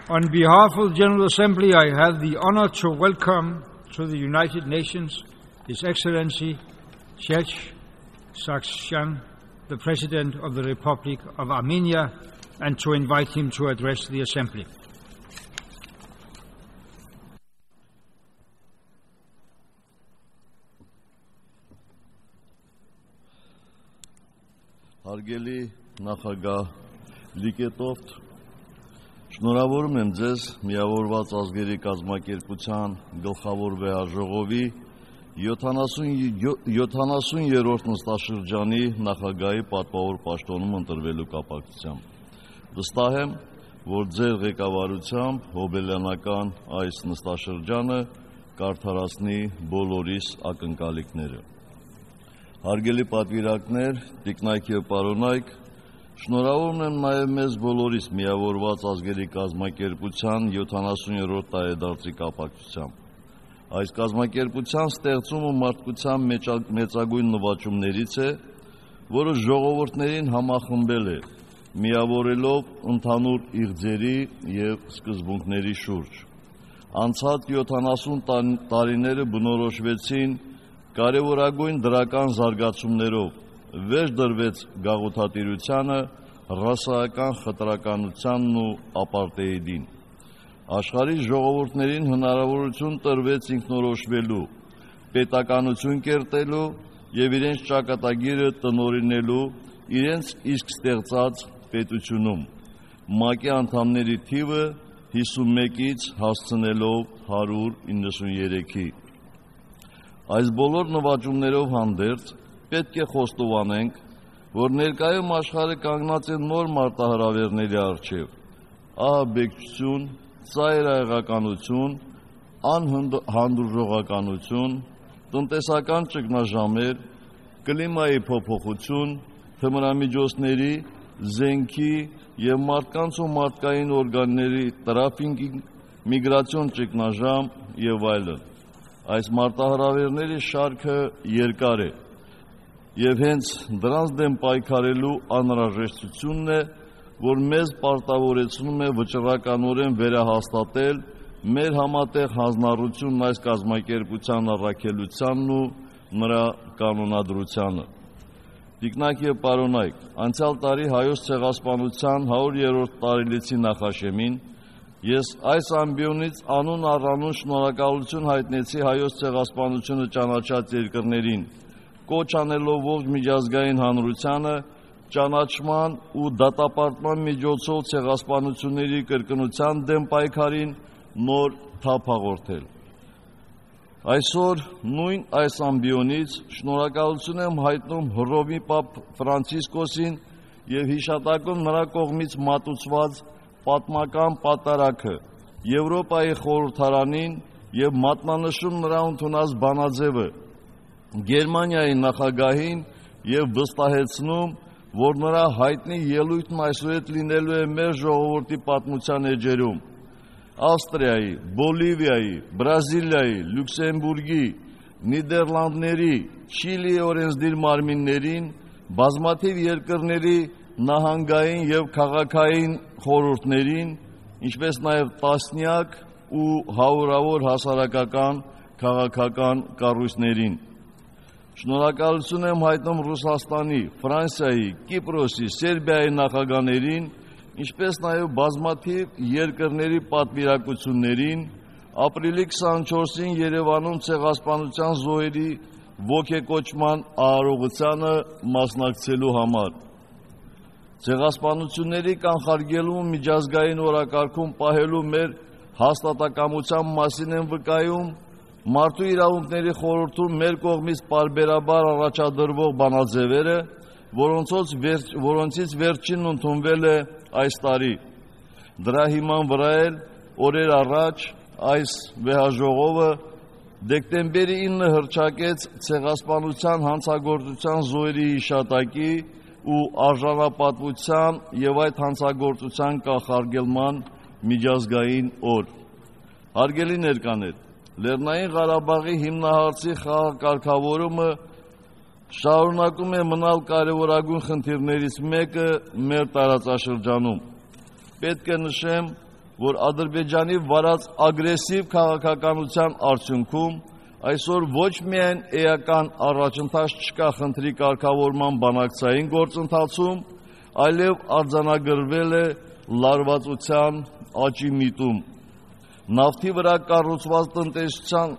On behalf of the General Assembly, I have the honor to welcome to the United Nations His Excellency Serge Sargsyan, the President of the Republic of Armenia, and to invite him to address the Assembly. Հարգելի նախագահ Լիկետովտ, շնորհավորում եմ ձեզ Միավորված ազգերի կազմակերպության գլխավոր վեհաժողովի 70-րդ նստաշրջանի նախագահի պատվավոր պաշտոնում ընտրվելու կապակցությամբ։ Վստահ եմ, որ ձեր ղեկավարությամբ հոբելյանական այս նստաշրջանը կարդարացնի բոլորիս ակնկալիքները։ Հարգելի պատվիրակներ, տիկնայք և պարոնայք, շնորհավորում եմ նաև մեզ բոլորիս Միավորված ազգերի կազմակերպության 70-րդ տարեդարձի կապակցությամբ։ Այս կազմակերպության ստեղծումը մարդկության մեծագույն նվաճումներից է, որը ժողովուրդներին համախմբել է, միավորելով ընդհանուր իղձերի և սկզբունքների շուրջ։ Անցած 70 տարիները բնորոշվեցին կարևորագույն դրական զարգացումներով, վեճ դրվեց գաղութատիրությանը, ռասայական խտրականությանն ու ապարտեիդին։ Աշխարհի ժողովուրդներին հնարավորություն տրվեց ինքնորոշվելու, պետականություն կերտելու և իրենց ճակատագիրը տնօրինելու իրենց իսկ ստեղծած պետությունում, ՄԱԿ-ի անդամների թիվը 51-ից հասցնելով 193-ի։ Այս բոլոր նվաճումներով հանդերձ պետք է խոստովանենք, որ ներկայում աշխարհը կանգնած է նոր մարտահրավերների առջև՝ ահաբեկչություն, ծայրահեղականություն, անհանդուրժողականություն, տնտեսական ճգնաժամեր, կլիմայի փոփոխություն, թմրամիջոցների, զենքի և մարդկանց ու մարդկային օրգանների տրաֆիկինգ, միգրացիոն ճգնաժամ և այլն։ Այս մարտահրավերների շարքը երկար է և հենց դրանց դեմ պայքարելու անհրաժեշտությունն է, որ մեզ պարտավորեցնում է վճռականորեն վերահաստատել մեր համատեղ հանձնառությունն այս կազմակերպության առաքելությանն ու նրա կանոնադրությանը։ Տիկնայք և պարոնայք, անցյալ տարի Հայոց ցեղասպանության 100-րդ տարելիցի նախաշեմին ես այս ամբիոնից անուն առանուն շնորհակալություն հայտնեցի Հայոց ցեղասպանությունը ճանաչած երկրներին, կոչ անելով ողջ միջազգային հանրությանը ճանաչման ու դատապարտման միջոցով ցեղասպանությունների կրկնության դեմ պայքարին նոր թափ հաղորդել։ Այսօր նույն այս ամբիոնից շնորհակալություն եմ հայտնում Հռոմի Պապ Ֆրանցիսկոսին և հիշատակում նրա կողմից մատուցված պատմական պատարագը, Եվրոպայի խորհրդարանին և մատնանշում նրա ընդունած բանաձևը, Գերմանիայի նախագահին և վստահեցնում, որ նրա հայտնի ելույթն այսուհետ լինելու է մեր ժողովրդի պատմության էջերում։ Ավստրիայի, Բոլիվիայի, Բրազիլիայի, Լյուքսեմբուրգի, Նիդերլանդների, Չիլիի օրենսդիր մարմիններին, բազմաթիվ երկրների նահանգային և քաղաքային խորհուրդներին, ինչպես նաև տասնյակ ու հարյուրավոր հասարակական քաղաքական կառույցներին։ Շնորհակալություն եմ հայտնում Ռուսաստանի, Ֆրանսիայի, Կիպրոսի, Սերբիայի նախագահներին, ինչպես նաև բազմաթիվ երկրների պատվիրակություններին, ապրիլի 24-ին Երևանում ցեղասպանության զոհերի ոգեկոչման արարողությանը մասնակցելու համար։ Ցեղասպանությունների կանխարգելումը միջազգային օրակարգում պահելու մեր հաստատակամության մասին եմ վկայում Մարդու իրավունքների խորհրդում մեր կողմից պարբերաբար առաջադրվող բանաձևերը, որոնցից վերջինն ընդունվել է այս տարի։ Դրա հիման վրա էլ օրեր առաջ այս վեհաժողովը դեկտեմբերի 9-ը հռչակեց ցեղասպանության հանցագործության զոհերի հիշատակի ու արժանապատվության և այդ հանցագործության կանխարգելման միջազգային օր։ Հարգելի ներկաներ, Լեռնային Ղարաբաղի հիմնահարցի խաղաղ կարգավորումը շարունակում է մնալ կարևորագույն խնդիրներից մեկը մեր տարածաշրջանում։ Պետք է նշեմ, որ Ադրբեջանի վարած ագրեսիվ քաղաքականության արդյունքում այսօր ոչ միայն էական առաջընթաց չկա խնդրի կարգավորման բանակցային գործընթացում, այլև արձանագրվել է լարվածության աճի միտում։ Նավթի վրա կառուցված տնտեսության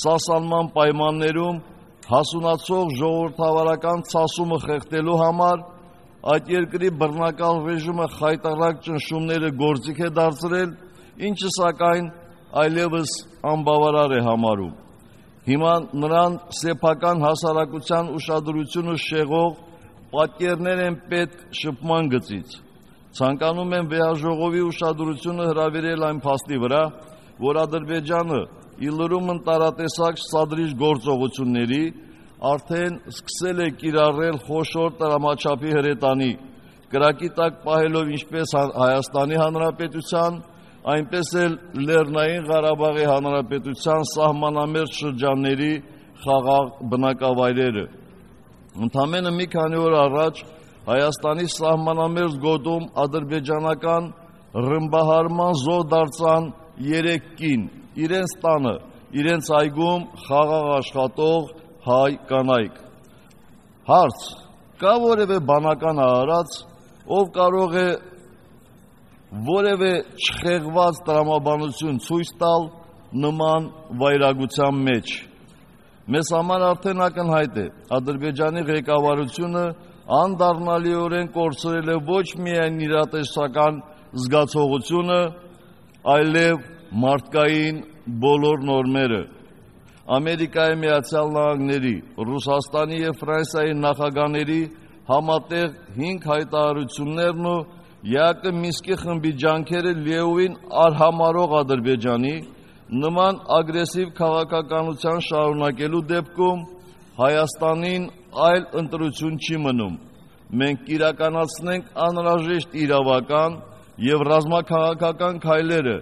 սասանման պայմաններում հասունացող ժողովրդավարական ցասումը խեղդելու համար այդ երկրի բռնակալ ռեժիմը խայտառակ ճնշումները գործիք է դարձրել, ինչը սակայն այլևս անբավարար է համարում։ Հիմա նրան սեփական հասարակության ուշադրությունը շեղող պատկերներ են պետք շփման գծից։ Ցանկանում եմ վեհաժողովի ուշադրությունը հրավիրել այն փաստի վրա, որ Ադրբեջանը ի լրումն տարատեսակ սադրիչ գործողությունների արդեն սկսել է կիրառել խոշոր տրամաչափի հրետանի, կրակի տակ պահելով ինչպես Հայաստանի Հանրապետության, այնպես էլ Լեռնային Ղարաբաղի Հանրապետության սահմանամերձ շրջանների խաղաղ բնակավայրերը։ Ընդամենը մի քանի օր առաջ Հայաստանի սահմանամերձ գոտում ադրբեջանական ռմբահարման զոհ դարձան 3 կին, իրենց տանը, իրենց այգում խաղաղ աշխատող հայ կանայք։ Հարց. կա որևէ բանական արարած, ով կարող է որևէ չխեղված տրամաբանություն ցույց տալ նման վայրագության մեջ։ Մեզ համար արդեն ակնհայտ է, Ադրբեջանի ղեկավարությունը անդառնալիորեն կորցրել է ոչ միայն իրատեսական զգացողությունը, այլև մարդկային բոլոր նորմերը։ Ամերիկայի Միացյալ Նահանգների, Ռուսաստանի և Ֆրանսիայի նախագահների համատեղ 5 հայտարարություններն ու ԵԱԿ Մինսկի խմբի ջանքերը լիովին արհամարող Ադրբեջանի նման ագրեսիվ քաղաքականության շարունակելու դեպքում Հայաստանին այլ ընտրություն չի մնում։ Մենք կիրականացնենք անհրաժեշտ իրավական և ռազմաքաղաքական քայլերը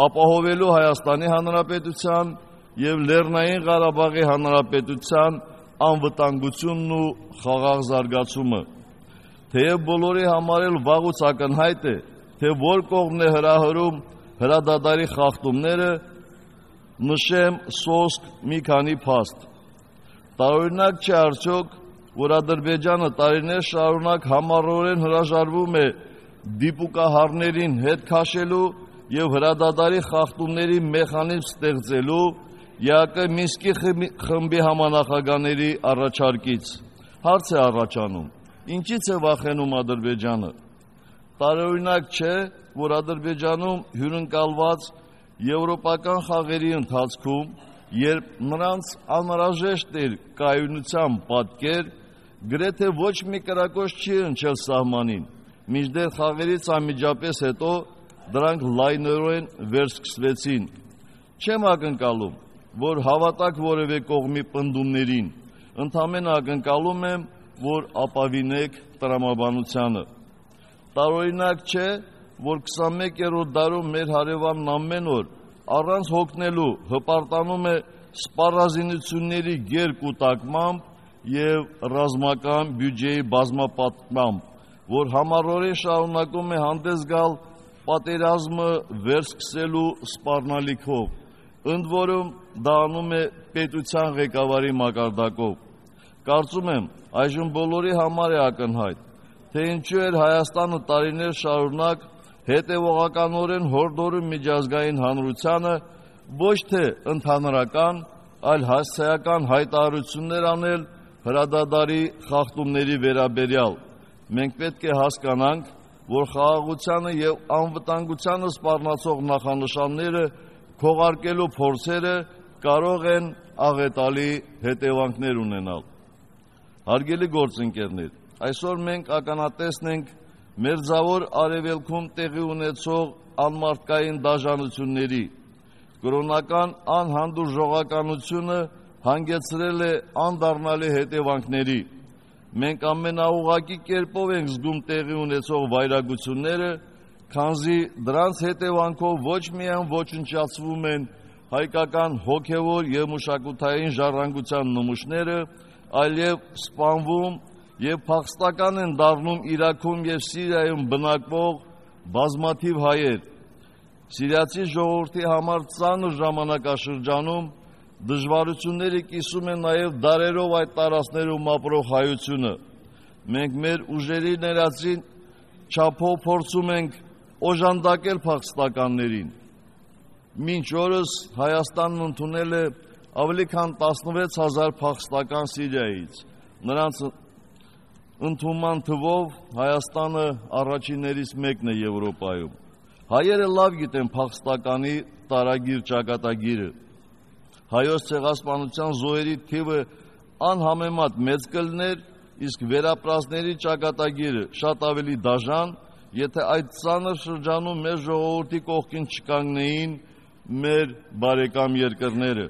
ապահովելու Հայաստանի Հանրապետության և Լեռնային Ղարաբաղի Հանրապետության անվտանգությունն ու խաղաղ զարգացումը։ Թեև բոլորի համար էլ վաղուց ակնհայտ է, թե որ կողմն է հրահրում հրադադարի խախտումները, նշեմ սոսկ մի քանի փաստ։ Տարօրինակ չէ արդյոք, որ Ադրբեջանը տարիներ շարունակ համառորեն հրաժարվում է դիպուկահարներին հետ քաշելու և հրադադարի խախտումների մեխանիզմ ստեղծելու ԵԱԿ Մինսկի խմբի համանախագահների առաջարկից։ Հարց է առաջանում. ինչից է վախենում Ադրբեջանը։ Տարօրինակ չէ, որ Ադրբեջանում հյուրընկալված եվրոպական խաղերի ընթացքում, երբ նրանց անհրաժեշտ էր կայունության պատկեր, գրեթե ոչ մի կրակոց չի հնչել սահմանին, մինչդեռ խաղերից անմիջապես հետո դրանք լայնորեն վերսկսվեցին։ Չեմ ակնկալում, որ հավատաք որևէ կողմի պնդումներին, ընդամենը ակնկալում եմ, որ ապավինեք տրամաբանությանը։ Տարօրինակ չէ, որ 21-րդ դարում մեր հարևանն ամեն օր առանց հոգնելու հպարտանում է սպառազինությունների գերկուտակմամբ և ռազմական բյուջեի բազմապատկմամբ, որ համառորեն շարունակում է հանդես գալ պատերազմը վերսկսելու սպառնալիքով, ընդ որում դա անում է պետության ղեկավարի մակարդակով։ Կարծում եմ, այժմ բոլորի համար է ակնհայտ, թե ինչու էր Հայաստանը տարիներ շարունակ հետևողականորեն հորդորում միջազգային հանրությանը ոչ թե ընդհանրական, այլ հասցեական հայտարարություններ անել հրադադարի խախտումների վերաբերյալ։ Մենք պետք է հասկանանք, որ խաղաղությանը և անվտանգությանը սպառնացող նախանշանները քողարկելու փորձերը կարող են աղետալի հետևանքներ ունենալ։ Հարգելի գործընկերներ, այսօր մենք ականատեսն ենք Մերձավոր Արևելքում տեղի ունեցող անմարդկային դաժանությունների, կրոնական անհանդուրժողականությունը հանգեցրել է անդառնալի հետևանքների։ Մենք ամենաուղղակի կերպով ենք զգում տեղի ունեցող վայրագությունները, քանզի դրանց հետևանքով ոչ միայն ոչնչացվում են հայկական հոգևոր և մշակութային ժառանգության նմուշները, այլև սպանվում և փախստական են դառնում Իրաքում և Սիրիայում բնակվող բազմաթիվ հայեր։ Սիրիացի ժողովրդի համար ծանր ժամանակաշրջանում դժվարությունները կիսում են նաև դարերով այդ տարածքներում ապրող հայությունը։ Մենք մեր ուժերի ներածին չափով փորձում ենք օժանդակել փախստականներին։ Մինչ օրս Հայաստանն ընդունել է ավելի քան 16,000 փախստական Սիրիայից։ Նրանց ընդունման թվով Հայաստանը առաջիններից մեկն է Եվրոպայում։ Հայերը լավ գիտեն փախստականի տարագիր ճակատագիրը։ Հայոց ցեղասպանության զոհերի թիվը անհամեմատ մեծ կլներ, իսկ վերապրածների ճակատագիրը շատ ավելի դաժան, եթե այդ ծանր շրջանում մեր ժողովրդի կողքին չկանգնեին մեր բարեկամ երկրները։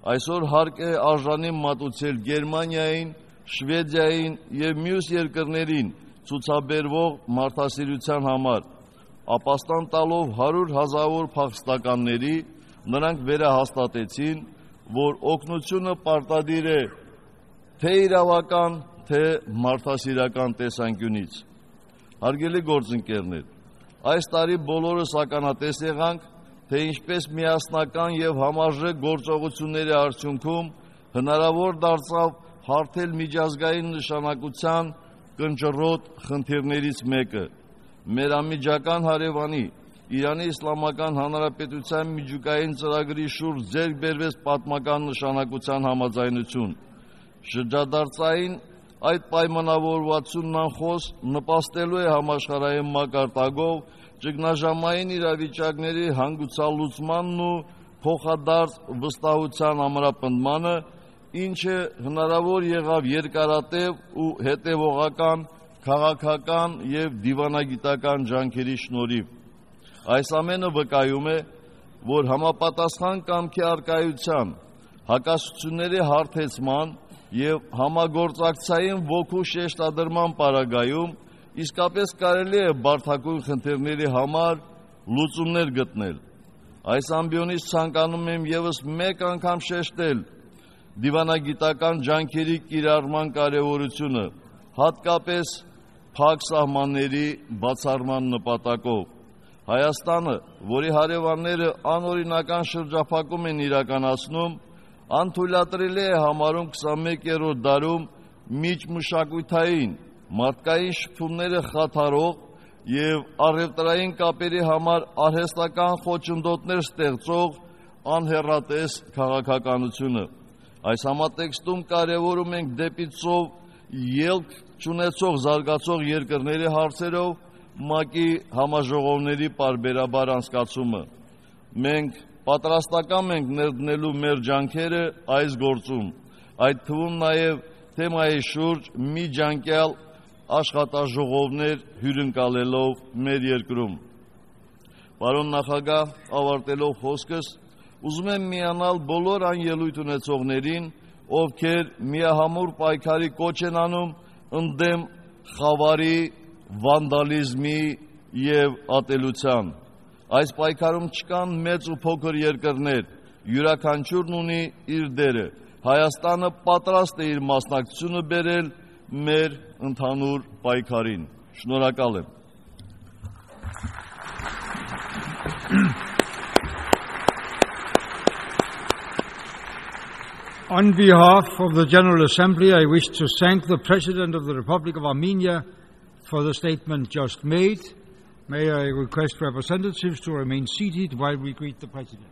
Այսօր հարկ է արժանի մատուցել Գերմանիային, Շվեդիային և մյուս երկրներին ցուցաբերվող մարդասիրության համար, ապաստան տալով 100,000 փախստականների, նրանք վերահաստատեցին, որ օգնությունը պարտադիր է թե իրավական, թե մարդասիրական տեսանկյունից։ Հարգելի գործընկերներ, այս տարի բոլորս ականատես եղանք, թե ինչպես միասնական և համարժեք գործողությունների արդյունքում հնարավոր դարձավ հարթել միջազգային նշանակության կնճռոտ խնդիրներից մեկը։ Մեր անմիջական հարևանի Իրանի Իսլամական Հանրապետության միջուկային ծրագրի շուրջ ձեռք բերվեց պատմական նշանակության համաձայնություն։ Շրջադարձային այդ պայմանավորվածությունն անխոս նպաստելու է համաշխարհային մակարդակով ճգնաժամային իրավիճակների հանգուցալուծմանն ու փոխադարձ վստահության ամրապնդմանը, ինչը հնարավոր եղավ երկարատև ու հետևողական քաղաքական և դիվանագիտական ջանքերի շնորհիվ։ Այս ամենը վկայում է, որ համապատասխան կամքի առկայության, հակասությունների հարթեցման և համագործակցային ոգու շեշտադրման պարագայում իսկապես կարելի է բարդագույն խնդիրների համար լուծումներ գտնել։ Այս ամբիոնից ցանկանում եմ ևս մեկ անգամ շեշտել դիվանագիտական ջանքերի կիրառման կարևորությունը, հատկապես փակ սահմանների բացառման նպատակով։ Հայաստանը, որի հարևանները անօրինական շրջափակում են իրականացնում, անթույլատրելի է համարում 21-րդ դարում միջմշակութային, մարդկային շփումները խաթարող և առևտրային կապերի համար արհեստական խոչընդոտներ ստեղծող անհեռատես քաղաքականությունը։ Այս համատեքստում կարևորում ենք դեպի ծով ելք չունեցող զարգացող երկրների հարցերով ՄԱԿ-ի համաժողովների պարբերաբար անցկացումը։ Մենք պատրաստական ենք ներդնելու մեր ջանքերը այս գործում, այդ թվում նաև թեմայի շուրջ միջանկյալ աշխատաժողովներ հյուրընկալելով մեր երկրում։ Պարոն նախագահ, ավարտելով խոսքս, ուզում եմ միանալ բոլոր այն ելույթ ունեցողներին, ովքեր միահամուռ պայքարի կոչ են անում ընդդեմ խավարի, վանդալիզմի և ատելության։ Այս պայքարում չկան մեծ ու փոքր երկրներ, յուրաքանչյուրն ունի իր դերը։ Հայաստանը պատրաստ է իր մասնակցությունը բերել մեր ընդհանուր պայքարին։ Շնորհակալ եմ։ On behalf of the General Assembly, I wish to thank the President of the Republic of Armenia for the statement just made. May I request representatives to remain seated while we greet the President.